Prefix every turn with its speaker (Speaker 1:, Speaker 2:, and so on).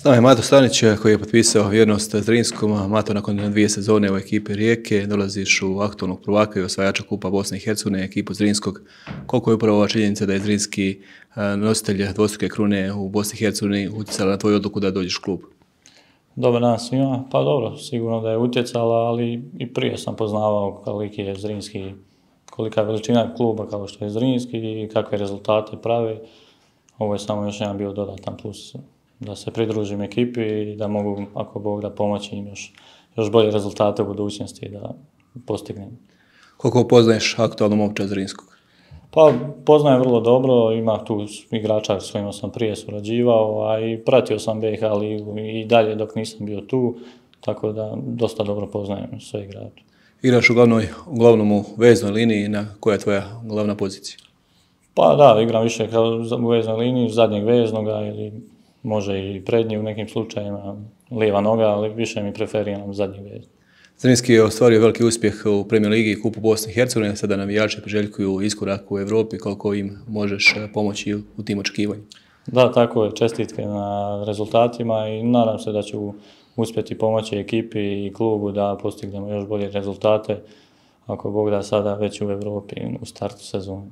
Speaker 1: S nama je Mato Stanić koji je potpisao vjernost Zrinskom. Mato, nakon 2 sezone u ekipi Rijeke dolaziš u aktualnog prvaka i osvajača Kupa Bosne i Hercegovine, ekipu Zrinskog. Koliko je upravo ova činjenica da je Zrinski nositelj dvostruke krune u Bosni i Hercegovini utjecala na tvoju odluku da dođeš u klub?
Speaker 2: Dobar dan svima. Pa dobro, sigurno da je utjecala, ali i prije sam poznavao koliki je Zrinski, kolika je veličina kluba kao što je Zrinski i kakve rezultate prave. Ovo je samo još jedan bio dodatan plus da se pridružim ekipi i da mogu, ako Bog da, pomoći im još bolje rezultate u budućnosti da postignem.
Speaker 1: Koliko poznaješ aktualno momčad Zrinskog?
Speaker 2: Pa poznajem vrlo dobro, ima tu igrača s kojima sam prije surađivao, a i pratio sam BiH ligu i dalje dok nisam bio tu, tako da dosta dobro poznajem sve igrače.
Speaker 1: Igraš uglavnom u veznoj liniji, koja je tvoja glavna pozicija?
Speaker 2: Pa da, igram više u veznoj liniji, zadnjeg veznoga ili može i prednji u nekim slučajevima, lijeva noga, ali više mi preferiram zadnji veznog.
Speaker 1: Zrinski je ostvario veliki uspjeh u Premier Ligi i Kupu Bosne i Hercegovine, sada navijači priželjkuju iskorak u Europi, koliko im možeš pomoći u tim očekivanjima?
Speaker 2: Da, tako je, čestitke na rezultatima i nadam se da ću uspjeti pomoći ekipi i klubu da postignemo još bolje rezultate, ako Bog da, sada već u Europi u startu sezone.